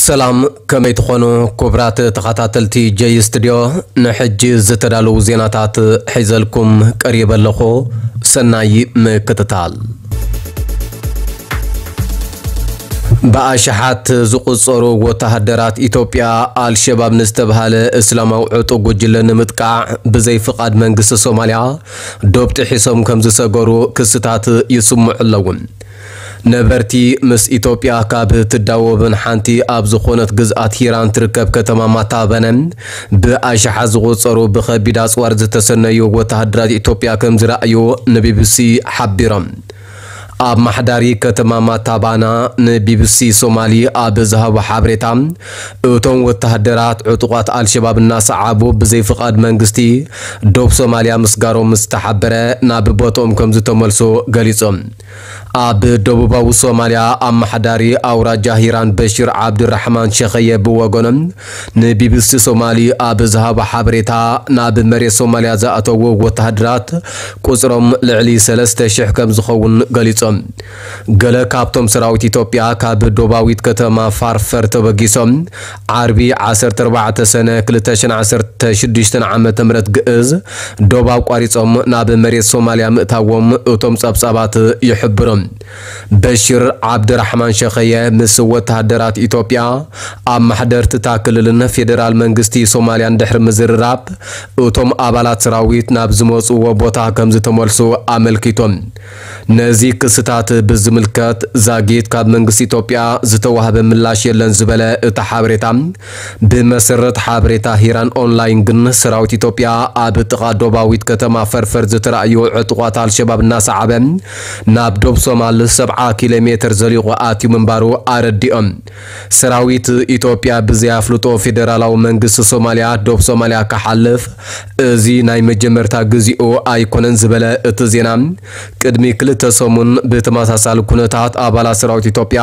ሰላም፣ ከመይ ትኾኑ ክቡራት ተኸታተልቲ ጀይ ስቱድዮ? ንሕጂ ዝተዳለዉ ዜናታት ሒዘልኩም ቀሪበ ኣለኹ። ሰናይ ምክትታል። ብኣሽሓት ዝቑጸሩ ወተሃደራት ኢትዮጵያ ኣልሸባብ ንዝተብሃለ እስላማዊ ዕጡቕ ጉጅለ ንምጥቃዕ ብዘይ ፍቓድ መንግስቲ ሶማልያ ዶብ ጥሒሶም ከም ዝሰገሩ ክስታት ይስምዑ ኣለዉ። ነበርቲ ምስ ኢትዮጵያ ካብ ትዳወብን ሓንቲ ኣብ ዝኾነት ግዝኣት ሂራን ትርከብ ከተማ ማታበነ ብኣሽሓት ዝቑጸሩ ብኸቢድ ኣጽዋር ዝተሰነዩ ወተሃደራት ኢትዮጵያ ከም ዝረኣዩ ንቢቢሲ ሓቢሮም። ኣማሓዳሪ ከተማ ማታባና ንቢቢሲ ሶማሊ ኣብ ዝሃቦ ሓበሬታ፣ እቶም ወተሃደራት ዕጡቓት ኣልሸባብ እናሰዓቡ ብዘይ ፍቓድ መንግስቲ ዶብ ሶማልያ ምስጋሮም ምስ ተሓበረ ናብ ቦትኦም ከም ዝተመልሱ ገሊጾም። ኣብ ደቡባዊ ሶማልያ ኣመሓዳሪ ኣውራጃ ሂራን በሽር ዓብድራሕማን ሸኸየ ብወገኖም ንቢቢሲ ሶማሊ ኣብ ዝሃቦ ሓበሬታ፣ ናብ መሬት ሶማልያ ዝኣተዉ ወተሃደራት ቁጽሮም ልዕሊ ሰለስተ ሽሕ ከም ዝኸውን ገሊጾም። ገለ ካብቶም ሰራዊት ኢትዮጵያ ካብ ዶባዊት ከተማ ፋርፈር ተበጊሶም ዓርቢ ዓሰርተ ኣርባዕተ ሰነ ክልተ ሽሕን ዓሰርተ ሽዱሽተን ዓመተ ምህረት ግእዝ ዶብ ኣቋሪጾም ናብ መሬት ሶማልያ ምእታዎም እቶም ጸብጻባት ይሕብሩ። በሽር ዓብድራሕማን ሸኸየ ምስ ወተሃደራት ኢትዮጵያ፣ ኣማሕደርቲ እታ ክልልን ፌደራል መንግስቲ ሶማልያን ድሕሪ ምዝርራብ፣ እቶም ኣባላት ሰራዊት ናብ ዝመጽዎ ቦታ ከም ዝተመልሱ ኣመልኪቶም። ነዚ ክስታት ብዝምልከት ዛጊት ካብ መንግስቲ ኢትዮጵያ ዝተዋህበ ምላሽ የለን ዝበለ እቲ ሓበሬታ፣ ብመሰረት ሓበሬታ ሂራን ኦንላይን ግን ሰራዊት ኢትዮጵያ ኣብ ጥቓ ዶባዊት ከተማ ፈርፈር ዝተራእዩ ዕጡቓት ኣልሸባብ እናሰዓበ ናብ ዶብ ሶማል ሰብዓ ኪሎ ሜትር ዘሊቑ ኣትዩ ምንባሩ ኣረዲኦም። ሰራዊት ኢትዮጵያ ብዘይ ኣፍልጦ ፌደራላዊ መንግስቲ ሶማልያ ዶብ ሶማልያ ክሓልፍ እዚ ናይ መጀመርታ ግዚኡ ኣይኮነን ዝበለ እቲ ዜና፣ ቅድሚ ክልተ ሰሙን ብተመሳሳሊ ኩነታት ኣባላት ሰራዊት ኢትዮጵያ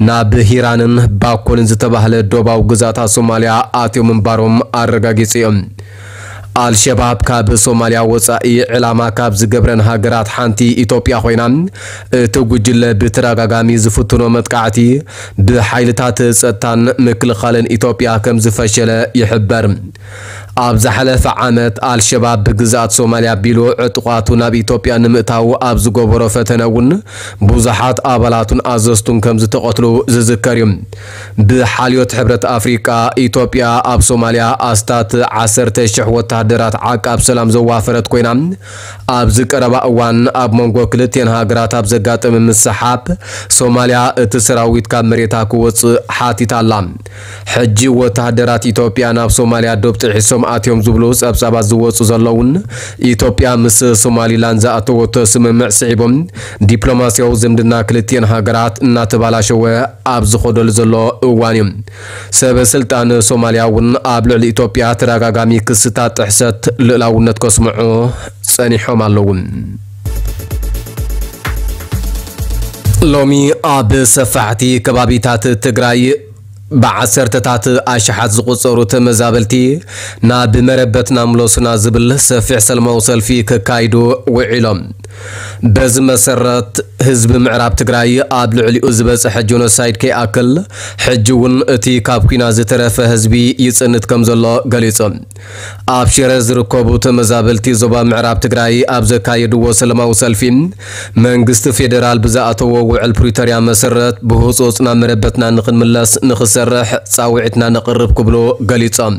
ናብ ሂራንን ባኮልን ዝተባህለ ዶባዊ ግዛታት ሶማልያ ኣትዮም ምንባሮም ኣረጋጊጹ እዩ። ኣልሸባብ ካብ ሶማልያ ወጻኢ ዕላማ ካብ ዝገብረን ሃገራት ሓንቲ ኢትዮጵያ ኮይና፣ እቲ ጉጅለ ብተደጋጋሚ ዝፍትኖ መጥቃዕቲ ብሓይልታት ጸጥታን ምክልኻልን ኢትዮጵያ ከም ዝፈሸለ ይሕበር። ኣብ ዝሓለፈ ዓመት ኣልሸባብ ብግዝኣት ሶማልያ ኣቢሉ ዕጡቓቱ ናብ ኢትዮጵያ ንምእታው ኣብ ዝገበሮ ፈተነ እውን ብዙሓት ኣባላቱን ኣዘዝቱን ከም ዝተቐትሉ ዝዝከር እዩ። ብሓልዮት ሕብረት ኣፍሪቃ፣ ኢትዮጵያ ኣብ ሶማልያ ኣስታት ዓሰርተ ሽሕ ወተሃደራት ዓቃብ ሰላም ዘዋፈረት ኮይና፣ ኣብዚ ቀረባ እዋን ኣብ መንጎ ክልቲኤን ሃገራት ኣብ ዘጋጠመ ምስሓብ ሶማልያ እቲ ሰራዊት ካብ መሬታ ክወጽእ ሓቲታ ኣላ። ሕጂ ወተሃደራት ኢትዮጵያ ናብ ሶማልያ ዶብ ጥሒሶም ኣትዮም ዝብሉ ጸብጻባት ዝወጹ ዘለውን፣ ኢትዮጵያ ምስ ሶማሊላንድ ዝኣተወቶ ስምምዕ ስዒቦም ዲፕሎማስያዊ ዝምድና ክልቲኤን ሃገራት እናተባላሸወ ኣብ ዝኸደሉ ዘሎ እዋን እዩ። ሰበ ስልጣን ሶማልያ እውን ኣብ ልዕሊ ኢትዮጵያ ተደጋጋሚ ክስታት ጥሕሰት ልእላውነት ከስምዑ ጸኒሖም ኣለዉ። ሎሚ ኣብ ሰፋሕቲ ከባቢታት ትግራይ ብዓሰርተታት ኣሽሓት ዝቑጸሩ ተመዛበልቲ ናብ መረበትና ምለሱና ዝብል ሰፊሕ ሰላማዊ ሰልፊ ከካይዱ ውዒሎም። በዚ መሰረት፣ ህዝቢ ምዕራብ ትግራይ ኣብ ልዕሊኡ ዝበጽሐ ጀኖሳይድ ከይኣክል፣ ሕጂ እውን እቲ ካብ ኲናት ዝተረፈ ህዝቢ ይጽንት ከም ዘሎ ገሊጹ። ኣብ ሽረ ዝርከቡ ተመዛበልቲ ዞባ ምዕራብ ትግራይ ኣብ ዘካየድዎ ሰላማዊ ሰልፊ፣ መንግስቲ ፌዴራል ብዝኣተዎ ውዕል ፕሪቶርያ መሰረት ብህጹጽ ናብ መረበትና ንኽንምለስ ንኽሰርሕ ጻውዒትና ነቕርብ ክብሉ ገሊጾም።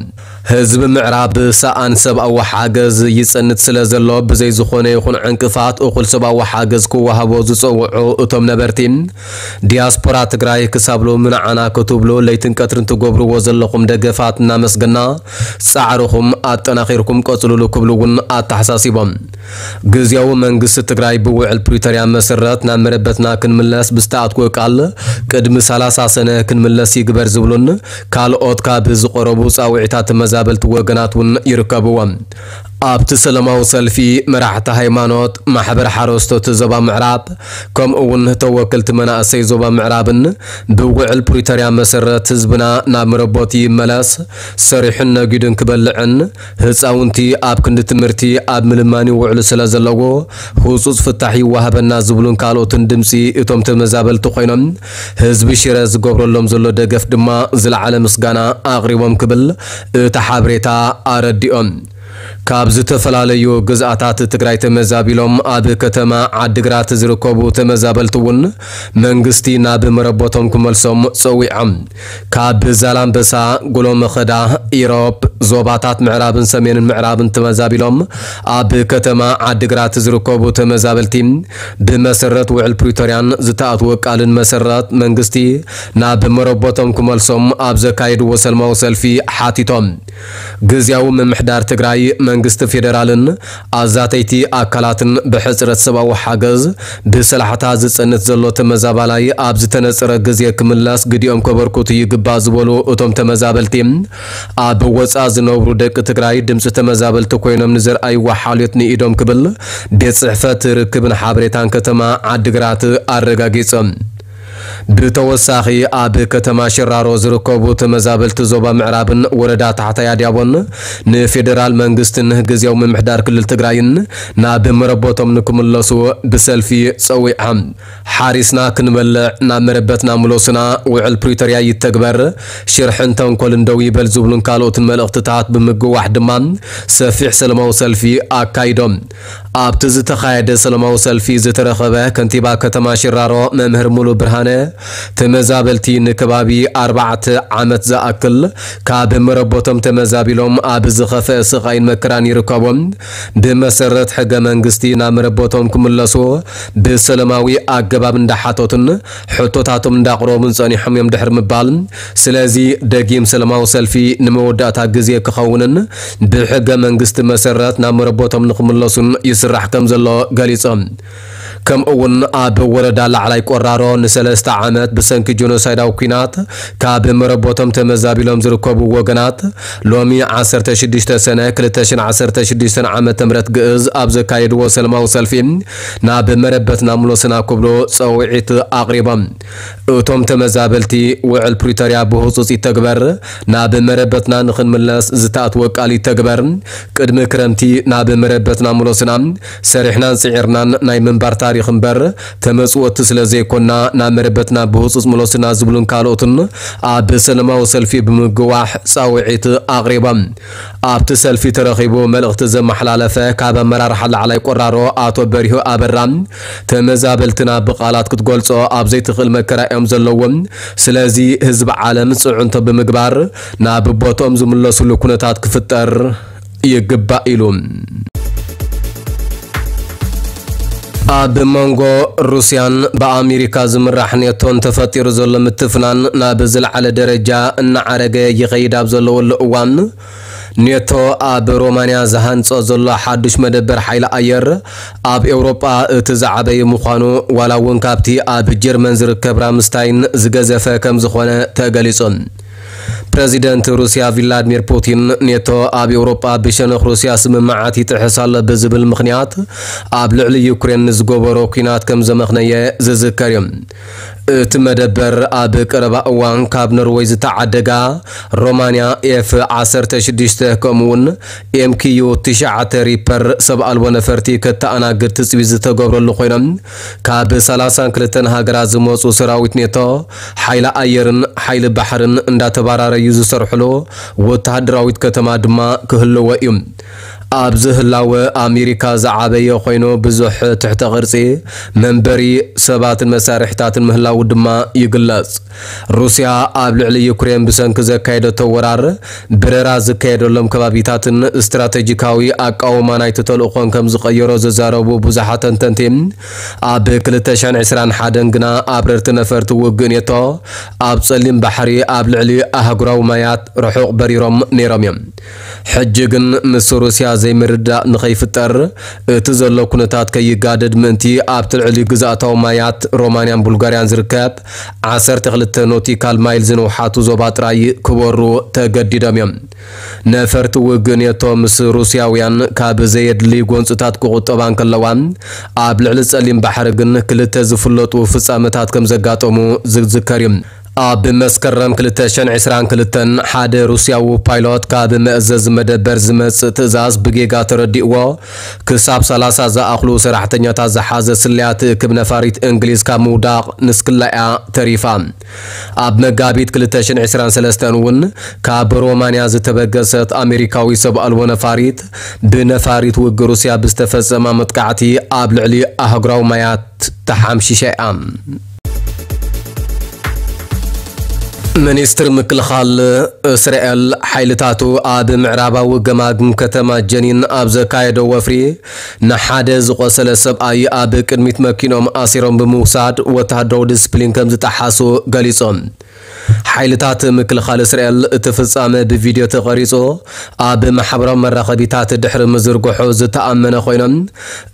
ህዝቢ ምዕራብ ሰኣን ሰብኣዊ ሓገዝ ይጸንት ስለ ዘሎ፣ ብዘይ ዝኾነ ይኹን ዕንቅፋት እኹል ሰብኣዊ ሓገዝ ክወሃቦ ዝጸውዑ እቶም ነበርቲ፣ ዲያስፖራ ትግራይ ክሳብ ሎሚ ንዓና ክትብሉ ለይትን ቀትርን ትገብርዎ ዘለኹም ደገፋት እናመስገና፣ ጻዕርኹም ኣጠናኺርኩም ቀጽሉሉ ክብሉ እውን ኣተሓሳሲቦም። ግዝያዊ መንግስቲ ትግራይ ብውዕል ፕሪቶርያ መሰረት ናብ መረበትና ክንምለስ ብዝተኣትወ ቃል ቅድሚ ሰላሳ ሰነ ክንምለስ ይግበር ዝብሉን ካልኦት ካብ ዝቐረቡ ጻውዒታት ተመዛበልቲ ወገናት እውን ይርከብዎም። ኣብቲ ሰላማዊ ሰልፊ፣ መራሕቲ ሃይማኖት፣ ማሕበር ሓረስቶት ዞባ ምዕራብ፣ ከምኡ እውን ተወከልቲ መናእሰይ ዞባ ምዕራብን ብውዕል ፕሪቶርያ መሰረት ህዝብና ናብ መረቦቱ ይመለስ፣ ሰሪሑን ነጊዱን ክበልዕን ህፃውንቲ ኣብ ክንዲ ትምህርቲ ኣብ ምልማን ይውዕሉ ስለ ዘለዎ ህፁፅ ፍታሕ ይወሃበና ዝብሉን ካልኦትን ድምፂ እቶም ተመዛበልቲ ኮይኖም ህዝቢ ሽረ ዝገብረሎም ዘሎ ደገፍ ድማ ዝለዓለ ምስጋና ኣቕሪቦም ክብል እቲ ሓበሬታ ኣረዲኦም። ካብ ዝተፈላለዩ ግዝኣታት ትግራይ ተመዛቢሎም ኣብ ከተማ ዓድግራት ዝርከቡ ተመዛበልቲ እውን መንግስቲ ናብ መረቦቶም ክመልሶም ጸዊዖም። ካብ ዛላምበሳ፣ ጉሎመኸዳ፣ ኢሮብ፣ ዞባታት ምዕራብን ሰሜንን ምዕራብን ተመዛቢሎም ኣብ ከተማ ዓድግራት ዝርከቡ ተመዛበልቲ ብመሰረት ውዕል ፕሪቶርያን ዝተኣትወ ቃልን መሰረት መንግስቲ ናብ መረቦቶም ክመልሶም ኣብ ዘካየድዎ ሰላማዊ ሰልፊ ሓቲቶም። ግዝያዊ ምምሕዳር ትግራይ፣ መንግስቲ ፌደራልን ኣዛተይቲ ኣካላትን ብሕፅረት ሰብኣዊ ሓገዝ ብሰላሕታ ዝፀንት ዘሎ ተመዛባላይ ኣብ ዝተነፀረ ግዜ ክምለስ ግዲኦም ከበርክቱ ይግባእ ዝበሉ እቶም ተመዛበልቲ፣ ኣብ ወፃእ ዝነብሩ ደቂ ትግራይ ድምፂ ተመዛበልቲ ኮይኖም ንዘርኣይዎ ሓልዮት ንኢዶም ክብል ቤት ፅሕፈት ርክብን ሓበሬታን ከተማ ዓድግራት ኣረጋጊፆም። ብተወሳኺ ኣብ ከተማ ሽራሮ ዝርከቡ ተመዛበልቲ ዞባ ምዕራብን ወረዳ ታሕታይ ኣድያቦን ንፌደራል መንግስትን ግዝያዊ ምምሕዳር ክልል ትግራይን ናብ መረቦቶም ንክምለሱ ብሰልፊ ጸዊዖም። ሓሪስና ክንበልዕ ናብ መረበትና ምለሱና፣ ውዕል ፕሪቶርያ ይተግበር፣ ሽርሕን ተንኮልን ደው ይበል ዝብሉን ካልኦትን መልእኽትታት ብምግዋሕ ድማ ሰፊሕ ሰላማዊ ሰልፊ ኣካይዶም። ኣብቲ ዝተኻየደ ሰላማዊ ሰልፊ ዝተረኸበ ከንቲባ ከተማ ሽራሮ መምህር ሙሉ ብርሃነ፣ ተመዛበልቲ ንከባቢ ኣርባዕተ ዓመት ዝኣክል ካብ መረቦቶም ተመዛቢሎም ኣብ ዝኸፍአ ስቓይን መከራን ይርከቦም። ብመሰረት ሕገ መንግስቲ ናብ መረቦቶም ክምለሱ ብሰላማዊ ኣገባብ እንዳሓተቱን ሕቶታቶም እንዳቕረቡን ጸኒሖም እዮም ድሕሪ ምባል፣ ስለዚ ደጊም ሰላማዊ ሰልፊ ንመወዳእታ ግዜ ክኸውንን ብሕገ መንግስቲ መሰረት ናብ መረቦቶም ንክምለሱን ይስራሕ ከም ዘሎ ገሊጾም። ከምኡ እውን ኣብ ወረዳ ላዕላይ ቆራሮ ንሰለስተ ዓመት ብሰንኪ ጆኖሳይዳዊ ኲናት ካብ መረቦቶም ተመዛቢሎም ዝርከቡ ወገናት ሎሚ ዓሰርተ ሽዱሽተ ሰነ ክልተ ሽሕን ዓሰርተ ሽዱሽተን ዓመተ ምህረት ግእዝ ኣብ ዘካየድዎ ሰላማዊ ሰልፊ ናብ መረበትና ምለሱና ክብሉ ጸውዒት ኣቕሪቦም። እቶም ተመዛበልቲ ውዕል ፕሪቶርያ ብህጹጽ ይተግበር፣ ናብ መረበትና ንኽንምለስ ዝተኣትወ ቃል ይተግበር፣ ቅድሚ ክረምቲ ናብ መረበትና ምለሱና፣ ሰሪሕናን ጽዒርናን ናይ ምንባር ታሪኽ እምበር ተመጽወቲ ስለ ዘይኮና ናብ መረበትና ብህጹጽ ምለሱና ዝብሉን ካልኦትን ኣብ ሰላማዊ ሰልፊ ብምግዋሕ ጻውዒት ኣቕሪቦም። ኣብቲ ሰልፊ ተረኺቡ መልእኽቲ ዘመሓላለፈ ካብ ኣመራርሓ ላዕላይ ቆራሮ ኣቶ በሪሁ ኣበራ፣ ተመዛበልትና ብቓላት ክትገልጾ ኣብ ዘይትኽእል መከራ እዮም ዘለዎም። ስለዚ ህዝቢ ዓለም ጽዕንቶ ብምግባር ናብ ቦትኦም ዝምለሱሉ ኩነታት ክፍጠር ይግባእ ኢሉ። ኣብ መንጎ ሩስያን ብኣሜሪካ ዝምራሕ ኔቶን ተፈጢሩ ዘሎ ምትፍናን ናብ ዝለዓለ ደረጃ እናዓረገ ይኸይድ ኣብ ዘለወሉ እዋን፣ ኔቶ ኣብ ሮማንያ ዝሃንጾ ዘሎ ሓዱሽ መደበር ሓይሊ ኣየር ኣብ ኤውሮጳ እቲ ዝዓበየ ምዃኑ፣ ዋላ እውን ካብቲ ኣብ ጀርመን ዝርከብ ራምስታይን ዝገዘፈ ከም ዝኾነ ተገሊጹ። ፕረዚደንት ሩስያ ቪላድሚር ፑቲን፣ ኔቶ ኣብ ኤውሮጳ ብሸነኽ ሩስያ ስምምዓት ይጥሕስ ኣሎ ብዝብል ምኽንያት ኣብ ልዕሊ ዩክሬን ንዝገበሮ ኲናት ከም ዘመኽነየ ዝዝከር እዩ። እቲ መደበር ኣብ ቀረባ እዋን ካብ ኖርወይ ዝተዓደጋ ሮማንያ ኤፍ ዓሰርተ ሽዱሽተ ከምኡውን ኤምኪዩ ትሽዓተ ሪፐር ሰብ ኣልቦ ነፈርቲ ከተኣናግድ ትጽቢት ዝተገብረሉ ኮይኖም፣ ካብ ሰላሳን ክልተን ሃገራት ዝመጹ ሰራዊት ኔቶ ሓይሊ ኣየርን ሓይሊ ባሕርን እንዳተባራረዩ ዝሰርሕሉ ወተሃደራዊት ከተማ ድማ ክህልዎ እዩ። ኣብዚ ህላወ ኣሜሪካ ዝዓበየ ኮይኑ፣ ብዙሕ ትሕተ ቅርጺ መንበሪ ሰባትን መሳርሒታትን ምህላዉ ድማ ይግለጽ። ሩስያ ኣብ ልዕሊ ዩክሬን ብሰንኪ ዘካየደቶ ወራር፣ በረራ ዝካየደሎም ከባቢታትን ስትራተጂካዊ ኣቃውማ ናይቲ ተልእኾን ከም ዝቐየሮ ዝዛረቡ ብዙሓት ተንተንቲ፣ ኣብ ክልተ ሽሕን ዕስራን ሓደን ግና ኣብረርቲ ነፈርቲ ውግእ ኔቶ ኣብ ጸሊም ባሕሪ ኣብ ልዕሊ ኣህጉራዊ ማያት ርሑቕ በሪሮም ነይሮም እዮም። ሕጂ ግን ምስ ሩስያ ዘይምርዳእ ንኸይፍጠር፣ እቲ ዘሎ ኩነታት ከይጋደድ ምእንቲ ኣብቲ ልዕሊ ግዝኣታዊ ማያት ሮማንያን ቡልጋርያን ዝርከብ ዓሰርተ ክልተ ኖቲካል ማይል ዝንውሓቱ ዞባ ጥራይ ክበሩ ተገዲዶም እዮም። ነፈርቲ ውግእ ኔቶ ምስ ሩስያውያን ካብ ዘየድሊ ጎንፅታት ክቑጠባ እንከለዋ፣ ኣብ ልዕሊ ጸሊም ባሕሪ ግን ክልተ ዝፍለጡ ፍጻመታት ከም ዘጋጠሙ ዝዝከር እዩ። ኣብ መስከረም ክልተ ሽሕን ዕስራን ክልተን ሓደ ሩስያዊ ፓይሎት ካብ መእዘዚ መደበር ዝመጽእ ትእዛዝ ብጌጋ ተረዲእዎ፣ ክሳብ ሰላሳ ዝኣኽሉ ሰራሕተኛታት ዝሓዘ ስለያ ትእክብ ነፋሪት እንግሊዝ ካብ ምውዳቕ ንስክላ እያ ተሪፋ። ኣብ መጋቢት ክልተ ሽሕን ዕስራን ሰለስተን እውን ካብ ሮማንያ ዝተበገሰት ኣሜሪካዊ ሰብ ኣልቦ ነፋሪት ብነፋሪት ውግእ ሩስያ ብዝተፈጸማ መጥቃዕቲ ኣብ ልዕሊ ኣህጉራዊ ማያት ተሓምሺሻ እያ። ሚኒስትር ምክልኻል እስራኤል ሓይልታቱ ኣብ ምዕራባዊ ገማግም ከተማ ጀኒን ኣብ ዘካየዶ ወፍሪ ንሓደ ዝቖሰለ ሰብኣይ ኣብ ቅድሚት መኪኖም ኣሲሮም ብምውሳድ ወተሃደራዊ ዲስፕሊን ከም ዝጠሓሱ ገሊጾም። ሓይልታት ምክልኻል እስራኤል እቲ ፍጻመ ብቪድዮ ተቐሪጹ ኣብ ማሕበራዊ መራኸቢታት ድሕሪ ምዝርግሑ ዝተኣመነ ኮይኖም፣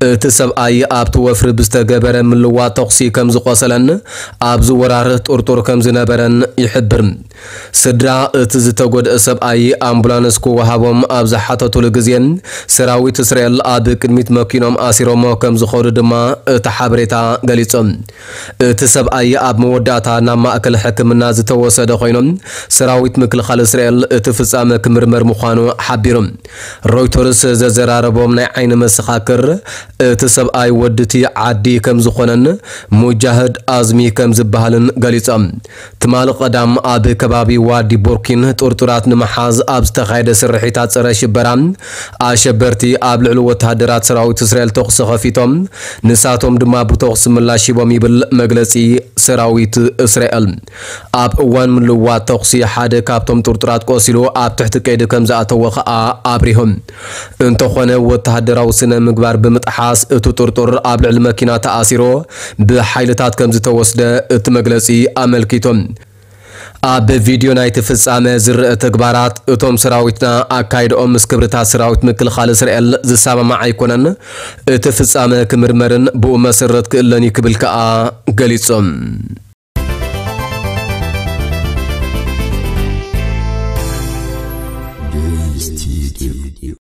እቲ ሰብኣይ ኣብቲ ወፍሪ ብዝተገበረ ምልዋ ተኹሲ ከም ዝቖሰለን ኣብዚ ወራር ጥርጡር ከም ዝነበረን ይሕብር። ስድራ እቲ ዝተጎድአ ሰብኣይ ኣምቡላንስ ክወሃቦም ኣብ ዝሓተቱሉ ግዜ፣ ሰራዊት እስራኤል ኣብ ቅድሚት መኪኖም ኣሲሮሞ ከም ዝኸዱ ድማ እቲ ሓበሬታ ገሊጹ። እቲ ሰብኣይ ኣብ መወዳእታ ናብ ማእከል ሕክምና ዝተወሰደ ኮይኑ፣ ሰራዊት ምክልኻል እስራኤል እቲ ፍጻመ ክምርመር ምዃኑ ሓቢሩ። ሮይተርስ ዘዘራረቦም ናይ ዓይኒ መሰኻክር፣ እቲ ሰብኣይ ወዲ እቲ ዓዲ ከም ዝኾነን ሙጃህድ ኣዝሚ ከም ዝበሃልን ገሊጾም። ትማሊ ቀዳም ኣብ ከባቢ ዋዲ ቦርኪን ጥርጡራት ንምሓዝ ኣብ ዝተኻየደ ስርሒታት ጸረ ሽበራ፣ ኣሸበርቲ ኣብ ልዕሊ ወተሃደራት ሰራዊት እስራኤል ተኹሲ ከፊቶም፣ ንሳቶም ድማ ብተኹሲ ምላሽ ሂቦም ይብል መግለጺ ሰራዊት እስራኤል። ኣብ እዋን ምልዋጥ ተኹሲ ሓደ ካብቶም ጥርጡራት ቆሲሉ ኣብ ትሕቲ ቀይዲ ከም ዝኣተወ ከኣ ኣብሪሆም። እንተኾነ ወተሃደራዊ ስነ ምግባር ብምጥሓስ እቲ ጥርጡር ኣብ ልዕሊ መኪና ተኣሲሩ ብሓይልታት ከም ዝተወስደ እቲ መግለጺ ኣመልኪቶም። ኣብ ቪድዮ ናይቲ ፍጻመ ዝረአ ተግባራት እቶም ሰራዊትና ኣካይድኦም ምስ ክብርታት ሰራዊት ምክልኻል እስራኤል ዝሰማማዕ ኣይኮነን። እቲ ፍጻመ ክምርመርን ብኡ መሰረት ክእለን እዩ ክብል ከኣ ገሊጾም።